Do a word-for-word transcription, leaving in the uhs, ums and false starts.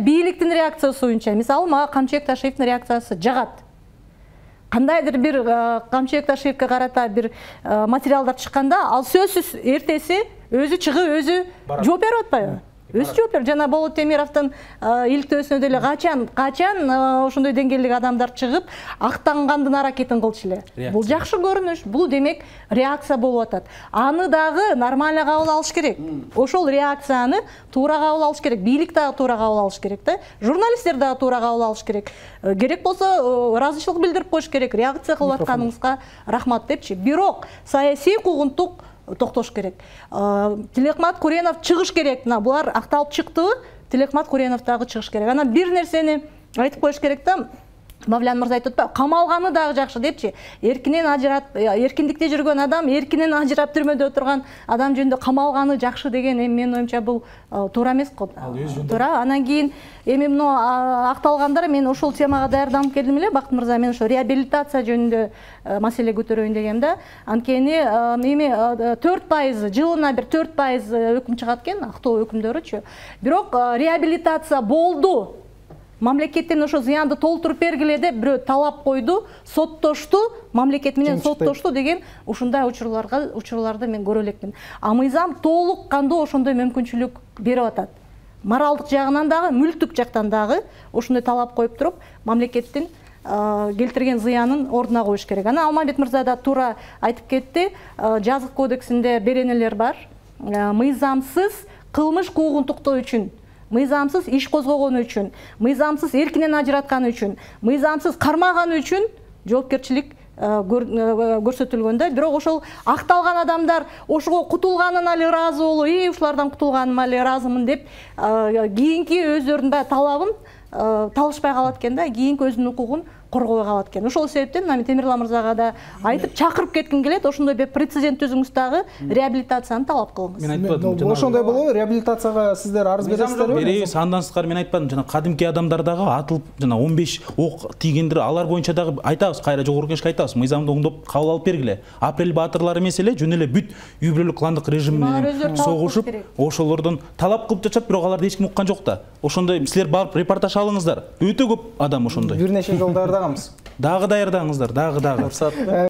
бийликтин реакциясы боюнча, мисалы, мага Камчыбек Ташиевдин реакциясы жагат. Кандайдыр бир Камчыбек Ташиевге карата бир материалдар чыкканда, ал сөзсүз эртеси өзү чыгып, өзү жооп берип атпайбы? Өзү жооп берип. Жана Болот Темировдун иликтөөсүнө деле качан, качан ошондой деңгээлдеги адамдар чыгып, актангандын аракетин кылчу эле. Бул жакшы көрүнүш, бул демек реакция болуп атат. Аны дагы нормально кабыл алыш керек. Ошол реакцияны туура кабыл алыш керек. Бийлик дагы туура кабыл алыш керек да. Журналисттер дагы туура кабыл алыш керек. Керек болсо ыраазычылык билдирип коюш керек. Реакция кылып атканыңызга рахмат депчи. Бирок саясий куугунтук токтош керек. Тилекмат Куренов чыгыш керек. Булар акталып чыктыбы? Тилекмат Куренов дагы чыгыш керек. Анан бир нерсени айтып коюш керек да. Мавлян мырза айтып атпайбы? Камалганы дагы жакшы депчи. Эркинен ажырап, эркиндикте жүргөн адам, эркинен ажырап түрмөдө отурган адам жөнүндө камалганы жакшы деген эми менин оюмча бул туура эмес го. Туура. Анан кийин эми муну акталгандар, мен ошол темага даярданып келдим эле, Бакыт мырза, мен ошо реабилитация жөнүндө маселе көтөрөйүн дегем да. Анткени эми төрт пайыз, жылына бир төрт пайыз өкүм чыгат экен, актоо өкүмдөрүчү. Бирок реабилитация болду. Мамлекеттен ошо зыянды толтуруп бергиле деп бирөө талап койду, соттошту, мамлекет менен соттошту деген ушундай учурларга учурларды мен көрө элекмин. А мыйзам толук кандуу ошондой мүмкүнчүлүк берип атат. Моралдык жагынан дагы, мүлктүк жактан дагы ошондой талап коюп туруп, мамлекеттин келтирген зыянын ордуна коюш керек. Анан Алмамбет мырза да туура айтып кетти. Жазык кодексинде беренелер бар. Мыйзамсыз кылмыш куугунтуктоо үчүн, мыйзамсыз иш козгогону үчүн, мыйзамсыз эркинен ажыратканы үчүн, мыйзамсыз кармаганы үчүн жоопкерчилик көрсөтүлгөн да. Бирок ошол акталган адамдар ошого кутулганына эле ыраазы болуп, "И, ушулардан кутулганыма эле ыраазымын" деп кийинки өздөрүнүн баягы талабын талышпай калат экен да, кийинки өзүнүн укугун коргобой калат экен. Ошол себептен Намит Темирлан мырзага да айтып чакырып кетким келет, ошондой бир прецедент түзүңүз, дагы реабилитацияны талап кылыңыз. Мен айтпадым. Ошондой болобу? Реабилитацияга сиздер арыз бересиздерби? Беребиз, андан сырткары мен айтпадым. Жана кадимки адамдар дагы атылып, жана он беш ок тийгендер, алар боюнча дагы айтабыз, кайра жогорку кеңешке айтабыз. Мыйзамды оңдоп кабыл алып бергиле. Апрель баатырлары эмес эле, жөн эле бүт үй бүлөлүк кландык режим менен согушуп, ошолордон талап кылып жашап, бирок аларды эч ким уккан жок да. Ошондой силер барып репортаж алыңыздар. Өтө көп адам ошондой. Бир нече жол даярдаганбыз. Дагы даярдаңыздар, дагы дагы.